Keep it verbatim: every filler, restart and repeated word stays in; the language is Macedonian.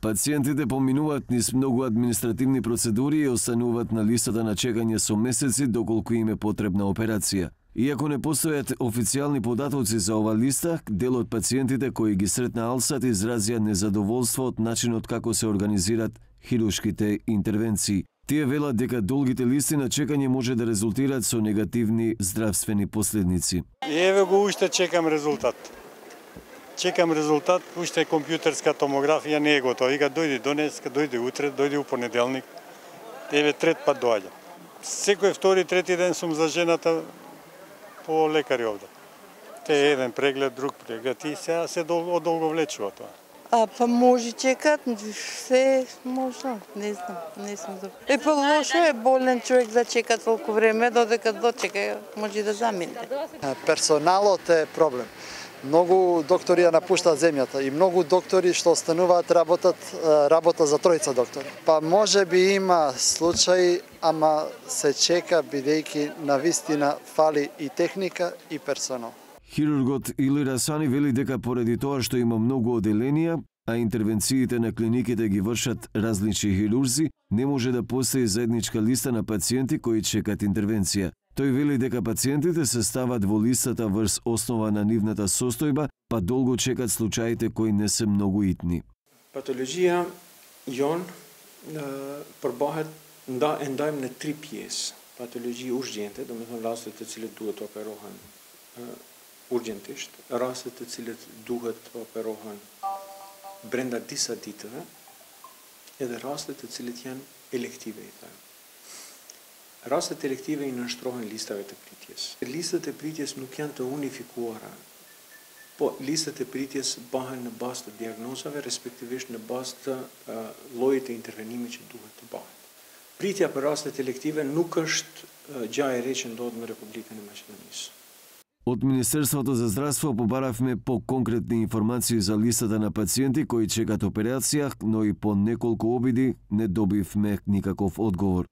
Пациентите поминуваат низ многу административни процедури и остануваат на листата на чекање со месеци доколку им е потребна операција. Иако не постојат официјални податоци за ова листа, дел од пациентите кои ги сретна Алсат изразија незадоволство од начинот како се организираат хируршките интервенции. Тие велат дека долгите листи на чекање може да резултираат со негативни здравствени последици. Еве го уште чекам резултат. Чекам резултат, уште компјутерска томографија не е готова. Вика дојди донеска, дојди утре, дојди у понеделник. Еве трет пат доаѓа. Секој втори, трети ден сум за жената по лекари овде. Те еден преглед, друг преглед и сега се одолговлечува тоа. А па може чекат, се можно, не знам, не сум за. Е па лошо е болен човек да чека толку време, додека дочека може да замине. Персоналот е проблем. Многу доктори ја напуштаат земјата и многу доктори што остануваат работат работа за тројца доктори. Па може би има случаи, ама се чека бидејќи навистина фали и техника и персонал. Хирургот Или Расани вели дека поради тоа што има многу оделенија, а интервенциите на клиниките ги вршат различни хирурзи, не може да постои заедничка листа на пациенти кои чекат интервенција. Тој вели дека пациентите се стават во листата врз основа на нивната состојба, па долго чекат случаите кои не се многу итни. Patologia jon përbahet nda e ndajmë në tri pjesë. Patologji urgjente, do të thonë rastet të cilët duhet të operohen urgjentisht, rastet të cilët duhet të operohen brenda disa ditëve, edhe rastet të cilët janë elektive i thënë. Rastet elektive i nënshtrohen listave të pritjes. Listat e pritjes nuk janë të unifikuara, po listat e pritjes bëhen në bazë të diagnozave, respektivisht në bazë të uh, llojit të intervenimit që duhet të bëhet. Pritja për rastet elektive nuk është uh, gjë e re që ndodhet në Republikën e Maqedonisë. Од Министерството за здравство побаравме по-конкретни информации за листата на пациенти кои чекат операција, но и по неколку обиди не добивме никаков одговор.